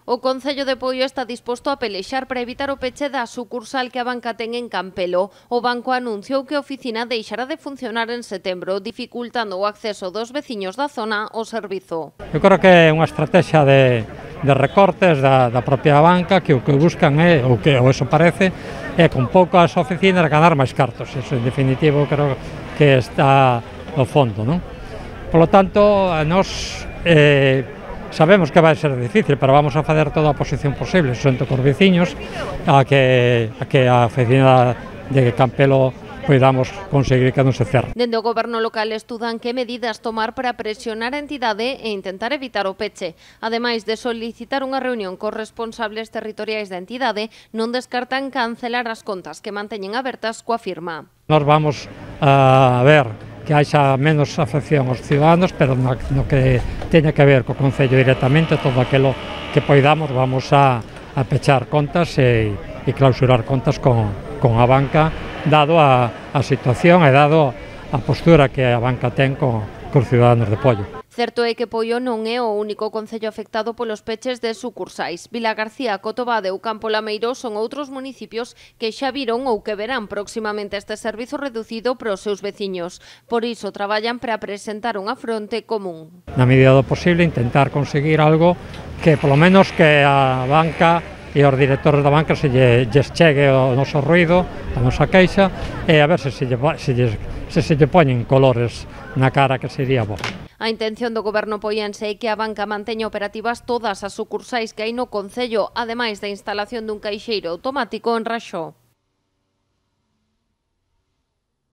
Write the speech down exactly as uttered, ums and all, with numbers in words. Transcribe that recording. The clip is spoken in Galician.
O Concello de Poio está disposto a pelexar para evitar o peche da sucursal que a banca ten en Campelo. O banco anunciou que a oficina deixará de funcionar en setembro, dificultando o acceso dos veciños da zona ao servizo. Eu creo que é unha estrategia de, de recortes da, da propia banca que o que buscan é, ou que ou eso parece, é con poucas oficinas ganar máis cartos. Eso, en definitivo, creo que está no fondo, non? Por lo tanto, a nós eh, sabemos que vai ser difícil, pero vamos a facer toda a oposición posible, xunto cos veciños, a que a, que a oficina de Campelo podamos conseguir que non se cerre. Dende o goberno local estudan que medidas tomar para presionar a entidade e intentar evitar o peche. Ademais de solicitar unha reunión cos responsables territoriais da entidade, non descartan cancelar as contas que manteñen abertas coa firma. Nós vamos a ver que haxa menos afección aos ciudadanos, pero no, no que teña que ver co Concello directamente, todo aquilo que poidamos vamos a, a pechar contas e, e clausurar contas con, con a banca, dado a, a situación e dado a postura que a banca ten con, cos ciudadanos de Poio. Certo é que Poio non é o único concello afectado polos peches de sucursais. Vilagarcía, Cotobade ou Campo Lameiro son outros municipios que xa viron ou que verán próximamente este servizo reducido para os seus veciños. Por iso traballan para presentar unha fronte común. Na medida do posible, intentar conseguir algo que, polo menos, que a banca e os directores da banca se lle, lles chegue o noso ruido, a nosa queixa, e a ver se se lle, se lle, se se lle poñen colores na cara, que sería bo. A intención do goberno poiense é que a banca manteña operativas todas as sucursais que hai no concello, ademais da instalación dun caixeiro automático en Raxó.